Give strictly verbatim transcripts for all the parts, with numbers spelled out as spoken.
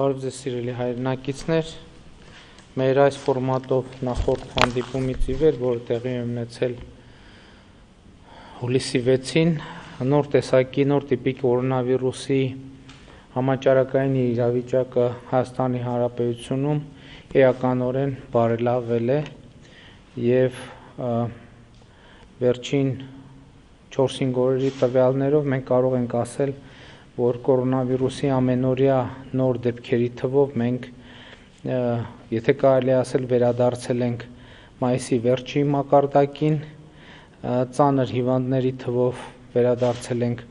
Բարև ձեզ սիրելի հայրենակիցներ, մեր այս ֆորմատով նախորդ հանդիպումից ի վեր, որը տեղի է ունեցել հուլիսի վեցին, նոր տեսակի, նոր տիպի կորոնավիրուսի համաճարակային իրավիճակը Հայաստանի Հանրապետությունում էականորեն բարելավել է եւ վերջին չորս-հինգ օրերի տվյալներով մենք կարող ենք ասել, որ կորոնավիրուսի ամենօրյա նոր դեպքերի թվով մենք, եթե կարելի ասել, վերադարձել ենք մայիսի վերջի մակարդակին, ծանր հիվանդների թվով վերադարձել ենք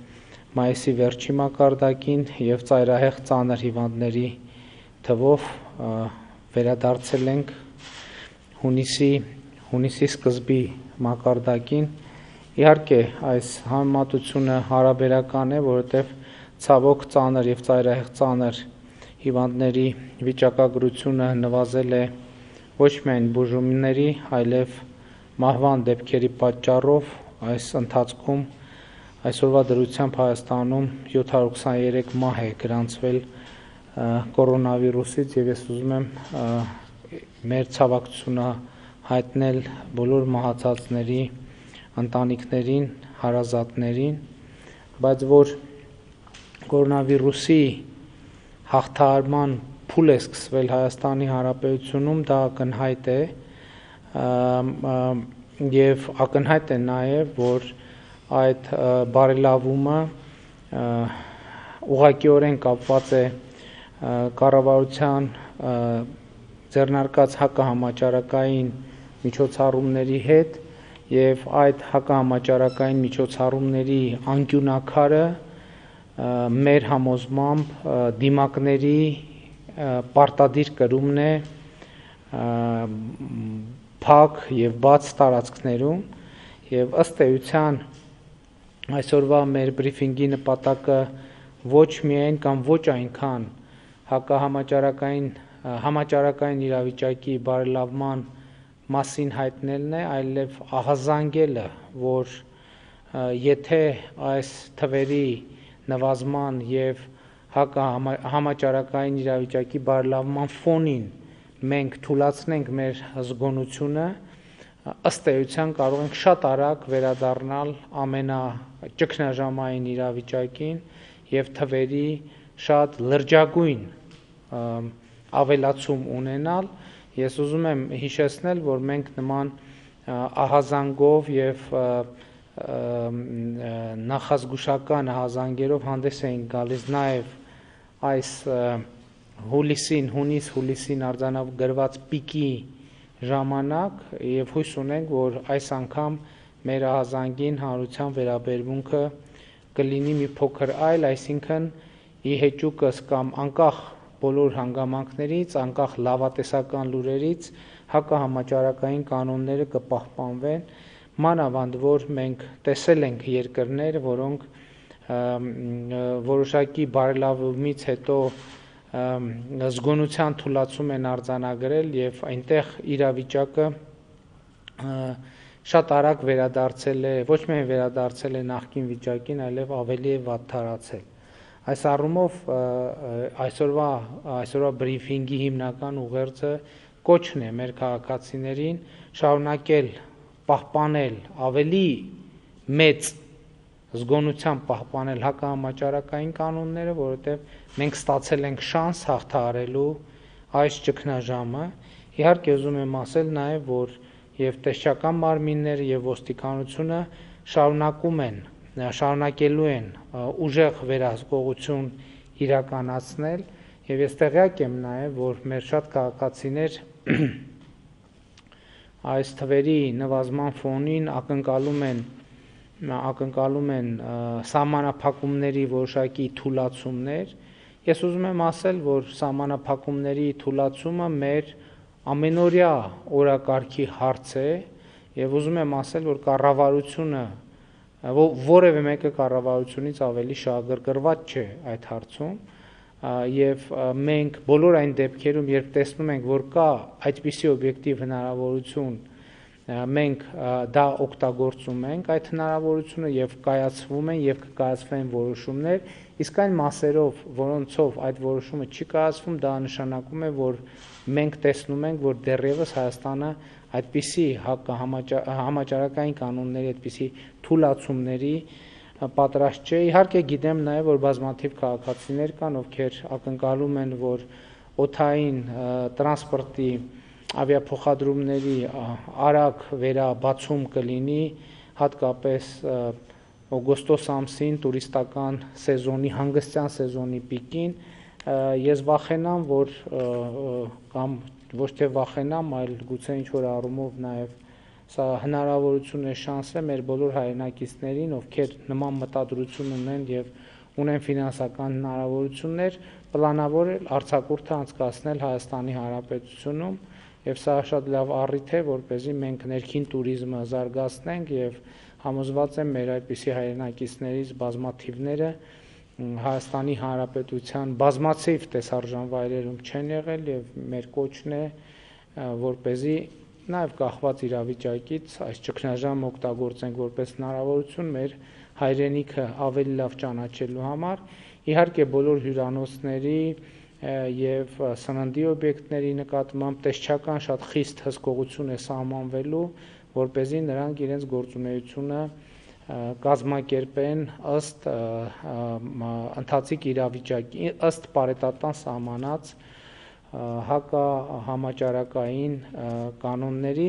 մայիսի վերջի մակարդակին եւ ծայրահեղ ծանր հիվանդների թվով վերադարձել ենք հունիսի հունիսի սկզբի մակարդակին։ Իհարկե, այս համեմատությունը հարաբերական է, որովհետեւ ցավոք ծանր եւ ծայրահեղ ծանր հիվանդների վիճակագրությունը նվազել է ոչ միայն բուժումների, այլև մահվան դեպքերի պատճառով այս ընթացքում այսօրվա դրությամբ Հայաստանում յոթ հարյուր քսաներեք մահ է գրանցվել կորոնավիրուսից եւ ես ուզում եմ մեր ցավակցությունը հայտնել բոլոր մահացածների ընտանիքներին, հարազատներին, բայց որ կորոնավիրուսի հաղթահարման փուլ է սկսվել Հայաստանի Հանրապետությունում, դա ակնհայտ է եւ ակնհայտ է նաեւ, որ այդ բարելավումը ուղղակիորեն կապված է կառավարության ձեռնարկած հակահամաճարակային միջոցառումների հետ եւ այդ հակահամաճարակային միջոցառումների անկյունակարը մեր համոզմամբ դիմակների պարտադիր կրումն է փակ եւ բաց տարածքներում եւ ըստ էության այսօրվա մեր բրիֆինգի նպատակը ոչ միայն կամ ոչ այնքան հակահամաճարակային համաճարակային իրավիճակի բարելավման մասին հայտնելն է, այլև ահազանգելը, որ եթե այս թվերի նվազման եւ հակահամաճարակային իրավիճակի բարելավման ֆոնին մենք թուլացնենք մեր զգոնությունը, ըստ էության կարող ենք շատ արագ վերադառնալ ամենաճգնաժամային իրավիճակին եւ թվերի շատ լրջագույն ավելացում ունենալ։ Ես ուզում եմ հիշեցնել, որ մենք նման ահազանգով եւ նախազգուշական ահազանգերով հանդես էին գալիս նաեւ այս հուլիսին, հունիս-հուլիսին արձանագրված պիկի ժամանակ եւ հույս ունենք, որ այս անգամ մեր ահազանգին հանրության վերաբերմունքը կլինի մի փոքր այլ, այսինքն ի հեճուկս կամ անկախ բոլոր հանգամանքներից, անկախ լավատեսական լուրերից հակահամաճարակային կանոնները կպահպանվեն, մանավանդ որ մենք տեսել ենք երկրներ, որոնք որոշակի բարելավումից հետո զգոնության թուլացում են արձանագրել եւ այնտեղ իրավիճակը շատ արագ վերադարձել է, ոչ միայն վերադարձել է նախկին վիճակին, այլև ավելի է վատթարացել։ Այս առումով այսօրվա այսօրվա բրիֆինգի հիմնական ուղերձը կոչն է մեր քաղաքացիներին շարունակել պահպանել ավելի մեծ զգոնությամբ պահպանել հակահամաճարակային կանոնները, որովհետև մենք ստացել ենք շանս հաղթահարելու այս ճգնաժամը։ Իհարկե ուզում եմ ասել նաև, որ եւ տեսչական մարմինները եւ ոստիկանությունը շարունակում են շարունակելու են ուժեղ վերահսկողություն իրականացնել եւ ես տեղյակ եմ նաեւ, որ մեր շատ քաղաքացիներ այս թվերի նվազման ֆոնին ակնկալում են ակնկալում են սահմանափակումների որոշակի թուլացումներ։ Ես ուզում եմ ասել, որ սահմանափակումների թուլացումը մեր ամենօրյա օրակարգի հարց է եւ ուզում եմ ասել, որ կառավարությունը որևէ մեկը կառավարությունից ավելի շահագրգռված չէ այդ հարցում եւ մենք բոլոր այն դեպքերում, երբ տեսնում ենք, որ կա այդպիսի օբյեկտիվ հնարավորություն մենք դա օգտագործում ենք այդ հնարավորությունը եւ կայացվում են եւ կկայացվեն որոշումներ, իսկ այն մասերով, որոնցով այդ որոշումը չի կայացվում, դա նշանակում է, որ մենք տեսնում ենք, որ դեռևս Հայաստանը այդպիսի համաճարակային կանոնների, այդպիսի թույլատումների պատրաստ չէ։ Իհարկե գիտեմ նաև, որ բազմաթիվ քաղաքացիներ կան, ովքեր ակնկալում են, որ օդային տրանսպորտի ավիափոխադրումների արագ վերաբացում կլինի, հատկապես օգոստոս ամսին տուրիստական սեզոնի, հանգստյան սեզոնի պիկին, ես վախենամ, որ կամ ոչ թե վախենամ, այլ գուցե ինչ-որ առումով նաև սա հնարավորություն է, շանս է մեր բոլոր հայրենակիցներին, ովքեր նման մտադրություն ունեն եւ ունեն ֆինանսական հնարավորություններ, պլանավորել արձակուրդը անցկացնել Հայաստանի Հանրապետությունում եւ սա շատ լավ առիթ է, որպեսզի մենք ներքին туриզմը զարգացնենք եւ համոզված եմ մեր այդպիսի հայրենակիցներից բազմաթիվները Հայաստանի Հանրապետության բազմացիվ տեսարժան վայրերում չեն եղել եւ մեր կոչն է, որպեսզի նաև կախված իրավիճակից այս ճգնաժամը օգտագործենք որպես հնարավորություն մեր հայրենիքը ավելի լավ ճանաչելու համար, իհարկե բոլոր հյուրանոցների եւ սննդի օբյեկտների նկատմամբ տեսչական շատ խիստ հսկողություն է սահմանվելու, որպեսզի նրանք իրենց գործունեությունը կազմակերպեն ըստ ընթացիկ իրավիճակի, ըստ պարետատան սահմանած հակահամաճարակային կանոնների